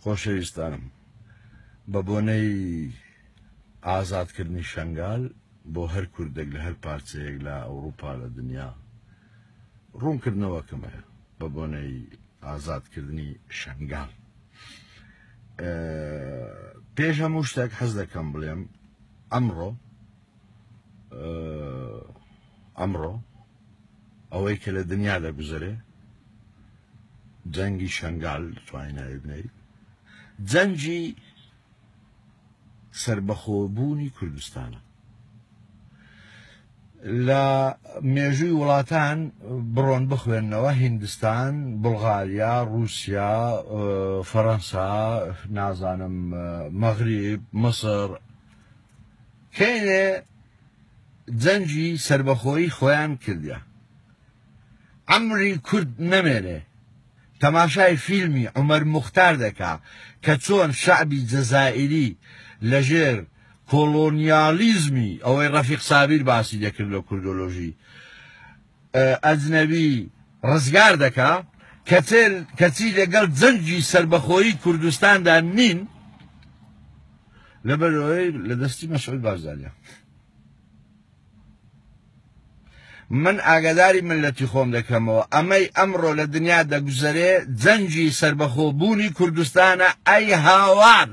خۆشەویستانم بە بۆنەی ئازادکردنی شەنگال بۆ هەر کوردێک لە هەر پارچەیەک لە ئەوروپا لە دنیا ڕوونکردنەوەکەم هەیە بە بۆنەی ئازادکردنی شەنگال پێش هەموو شتێک حەز دەکەم بڵێم ئەمڕۆ ئەمڕۆ ئەوەی کە لە دنیا دەگوزەرێ جەنگی شەنگال توانین ناوی بنێی جەنگی سربەخۆبوونی کوردستانە لە مێژووی وڵاتان بڕۆن بخوێننەوە هیندستان، بوڵغاریا، ڕووسیا، فەرەنسا، نازانم مەغریب، مسر کەینێ جەنگی سەربەخۆیی خۆیان کردە. عەمری کورد نەمێنێ تەماشای فیلمی عومەر موختار دەکا کە چۆن شەعبی جەزائیری لەژێر کۆڵۆنیالیزمی ئەوەی ڕەفیق سابیر باسی دەکرد لە کوردۆلۆژی ئەجنەبی ڕزگار دەکا کەچی لەگەڵ جەنگی سەربەخۆیی کوردستاندا نین لەبەرەوەی لە دەستی مەسعود بارزانیە. من ئاگاداری ملەتی خۆم دەکەمەوە ئەمەی ئەمڕۆ لە دنیا دەگوزەرێ جەنگی سەربەخۆ بوونی کوردستانە ئەی هاوار.